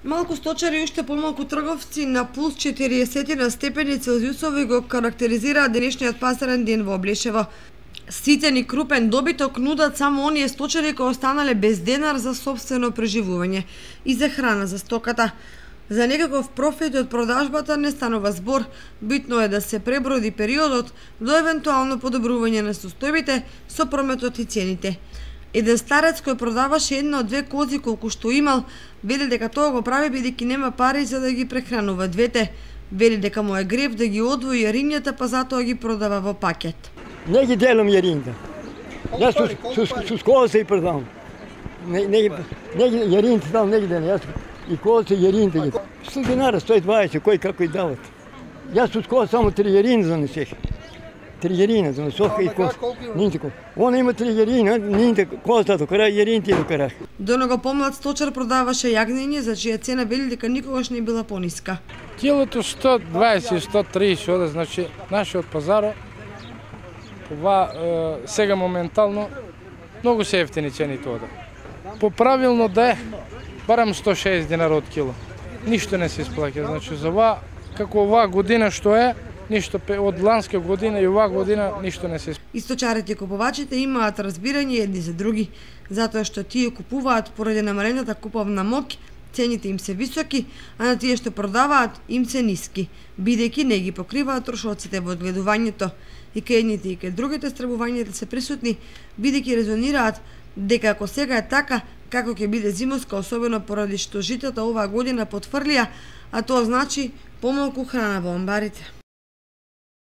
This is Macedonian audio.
Малку сточари и уште помалку трговци на плюс 40 на степени Целзиусови го карактеризираат денешниот пазарен ден во Облешево. Ситен и крупен добиток нудат само оние сточари кои останале без денар за сопствено преживување и за храна за стоката. За некаков профит од продажбата не станува збор, битно е да се преброди периодот до евентуално подобрување на состојбите со прометот и цените. Еден старец кој продаваше една од две кози колку што имал, вели дека тоа го прави бидејќи нема пари за да ги прехранува двете. Вели дека му е грев да ги одвои јаринјата, па затоа ги продава во пакет. Не ги делам јаринјата. Јас со кози и продавам. Не ги јаринјата дам, не ги делам. Јас и кози и јаринјата ги. 100 динара, 120, кој како и дават. Јас со кози само 3 јаринји занесех. 3 јаринји занесох и кози. Нинтико. Она има 3 јаринји, нинте козата до крај, јаринјите до крај. До него помлад сточар продаваше јагнење, за чија цена вели дека никогаш не била пониска. Килото 120, 130 оде, значи нашиот пазар ова сега моментално многу се ефтини цените оде. Поправилно да е барам 160 динара од кило. Ништо не се исплаќа, значи за ова како оваа година што е, ништо од ланска година и оваа година ништо не се исплаќа. И сточарите и купувачите имаат разбирање едни за други, затоа што тие купуваат поради намалената куповна моќ, цените им се високи, а на тие што продаваат им се ниски, бидејќи не ги покриваат трошоците во одгледувањето. И кај едните и кај другите страбувањата се присутни, бидејќи резонираат дека ако сега е така, како ќе биде зимоска, особено поради што житата оваа година потврлија, а тоа значи помалку храна во амбарите.